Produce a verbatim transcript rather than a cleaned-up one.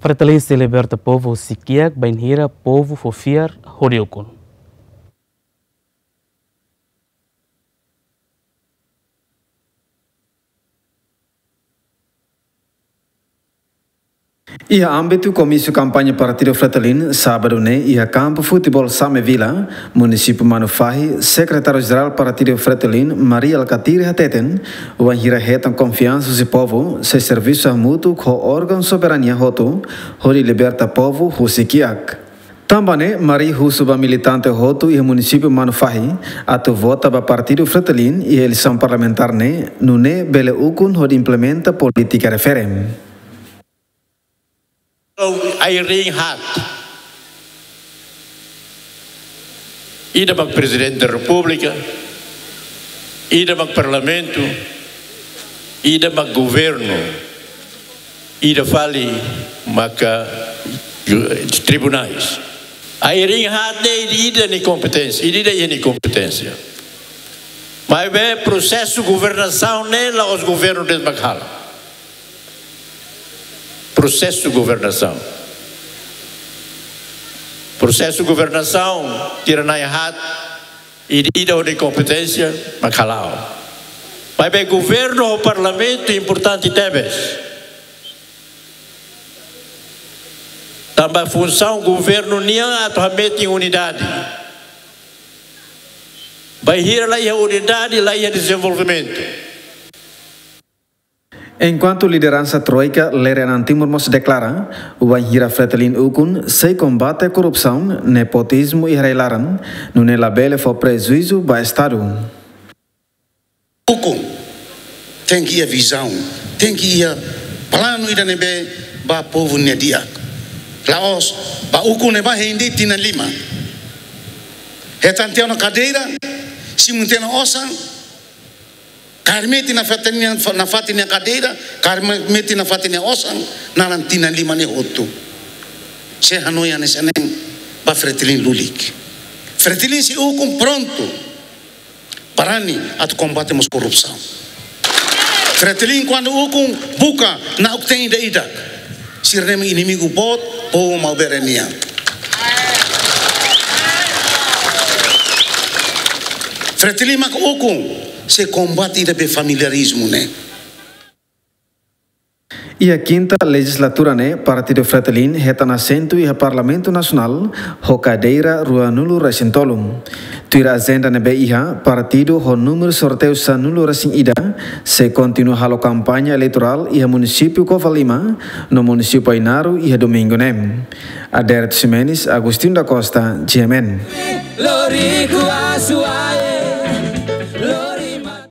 Fretilin sei liberta povu husi kiak bainhira povu fó fiar hodi ukun. Iha ámbitu komísiu kampaña Partidu Fretilin, sábadu ne'e, iha kampu futeból Same Vila, munisípiu Manufahi, Sekretáriu Jerál Partidu Fretilin, Mari Alkatiri hateten, wainhira hetan konfiansa husi povu, sei servisu hamutuk ho órgaun soberania hotu, hodi liberta povu husi kiak. Tanba ne'e, Mari husu ba militante hotu iha munisípiu Manufahi, atu vota ba Partidu Fretilin iha eleisaun parlamentár ne'e, nune'e bele ukun hodi implementa polítika refere. Ai-riin haat. Ida mak Prezidente da Repúblika, ida mak Parlamentu, ida mak Governu, ida fali maka ju-, tribunais. Ai-riin haat ne'e ida-idak nia kompeténsia, ida-idak iha nia kompeténsia. Maibé prosesu governasaun ne'e la'ós governu de'it mak halo. Prosesu governasaun. Prosesu governasaun, sira na'in haat, ida-idak ho nia kompeténsia mak hala'o. Maibé governu ho parlamentu importante tebes. Tanba funsaun governu nian atu hametin unidade. Bainhira la iha unidade, la iha dezenvolvimentu. Enkuantu lideransa Troika Lere Anan Timor mós deklara, wainhira Fretilin ukun sei kombate korrupsaun, nepotizmu iha rai-laran, nune'e labele fó prejuízu ba Estadu. Ukun tenke iha vizaun, tenke iha planu ida ne'ebé ba povu nia di'ak. La'ós ba ukun ne'ebá hein de'it tinan lima. Hetan tiha ona kadeira, simu tiha ona osan, kaer metin nafatin nia, nafatin nia kadeira, kaer metin nafatin nia osan, naran tinan lima ne'e hotu. Sei hanoin hanesan ne'e ba Fretilin lulik. Fretilin sei ukun prontu, barani atu kombate mós korrupsaun. Fretilin kuandu ukun buka na'ok-teen ida-idak. Sira-ne'e mak inimigu boot, povu Maubere nian. Fretilin mak ukun, sei kombate ida be familiarizmu ne'e. Iha kinta lejislatura ne'e, Partidu Fretilin hetan asentu iha Parlamentu Nasionál ho kadeira ruanulu-resin-tolu. Tuir ajenda ne'ebé iha, partidu ho númeru sorteiu sanulu-resin-ida sei kontinua halo kampaña eleitorál iha munisípiu Covalima no munisípiu Ainaro iha domingu ne'e. Aderito Ximenes, Agostinho da Costa, G M N.